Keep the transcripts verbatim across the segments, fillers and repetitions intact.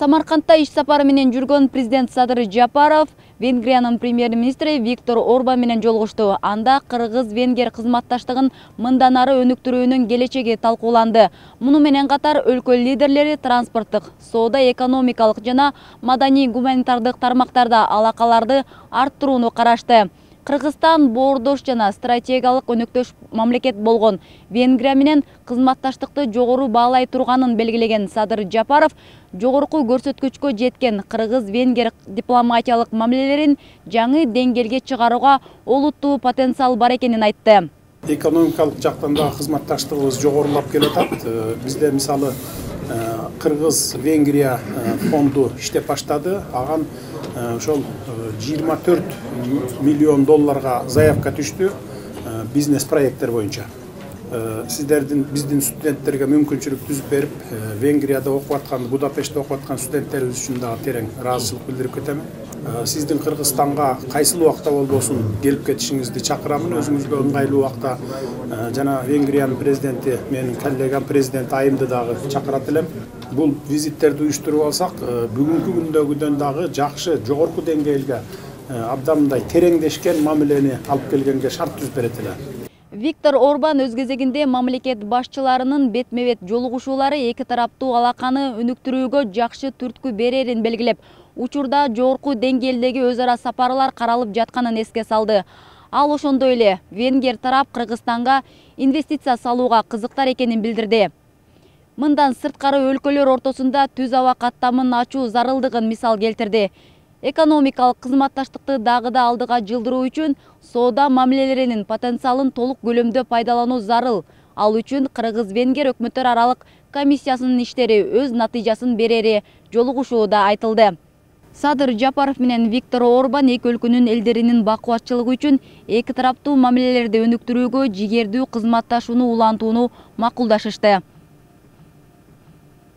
Самаркандта иш сапары менен жүргөн президент Садыр Жапаров Венгриянын премьер-министри Виктор Орбан менен жолугушту. Анда кыргыз-венгер кызматташтыгын мындан ары өнүктүрүүнүн келечеги талкууланды. Муну менен катар өлкө лидерлери транспорттук, соода, экономикалык жана маданий гуманитардык тармактарда алакаларды арттырууну карашты. Кыргызстан боордош жана стратегиялык өнөктөш мамлекет болгон Венгрия менен кызматташтыкты жогору баалай турганын белгилеген Садыр Жапаров жогорку көрсөткүчкө жеткен кыргыз-венгер дипломатиялык мамилелерин жаңы деңгээлге чыгарууга олуттуу потенциал бар экенин айтты. Экономикалык жактан да кызматташтыгыбыз жогорулап келатат. Бизде мисалы Кыргыз-Венгрия фонду иштеп баштады. Аган ошол жыйырма төрт миллион долларга заявка түштү бизнес проекттер боюнча. Сиздердин биздин студенттерге мүмкүнчүлүк түзүп берип, Венгрияда окуп аткан, Будапештте окуп аткан студенттерибиз үчүн дагы терең ыраазычылык билдирип кетем. Сиздин Кыргызстанга кайсыл убакта болбосун келип кетишиңизди чакырамын. Өзүңүзгө ыңгайлуу убакта жана Венгриянын президенти, менин коллегам президент Айымды дагы чакырат элем. Бул визиттерди уюштуруп алсак, бүгүнкү күндөгүдөн дагы жакшы, жогорку деңгээлге, абдамындай тереңдешкен мамилени алып келгенге шарт түзүп берет эле. Виктор Орбан өз кезегинде мамлекет башчыларынын бетме-бет жолугушуулары эки тараптуу алаканы өнүктүрүүгө жакшы түрткү берерин белгилеп, учурда жогорку деңгээлдеги өз ара сапарлар каралып жатканын эске салды. Ал ошондой эле венгер тарап Кыргызстанга инвестиция салууга кызыктар экенин билдирди. Мындан сырткары өлкөлөр ортосунда түз аба каттамын ачуу зарылдыгын мисал келтирди. Экономикалык кызматташтыкты дагы да алдыга жылдыруу үчүн соода мамилелеринин потенциалын толук көлөмдө пайдалануу зарыл. Ал үчүн Кыргыз-Венгер өкмөттөр аралык комиссиясынын иштери өз натыйжасын берери жолугушууда айтылды. Садыр Жапаров менен Виктор Орбан эки өлкөнүн элдеринин бакубатчылыгы үчүн эки тараптуу мамилелерди өнүктүрүүгө жигердүү кызматташууну улантууну макулдашышты.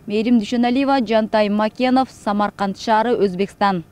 Мээрим Дүйшөналиева, Жантай Макенов, Самарканд шаары, Өзбекстан.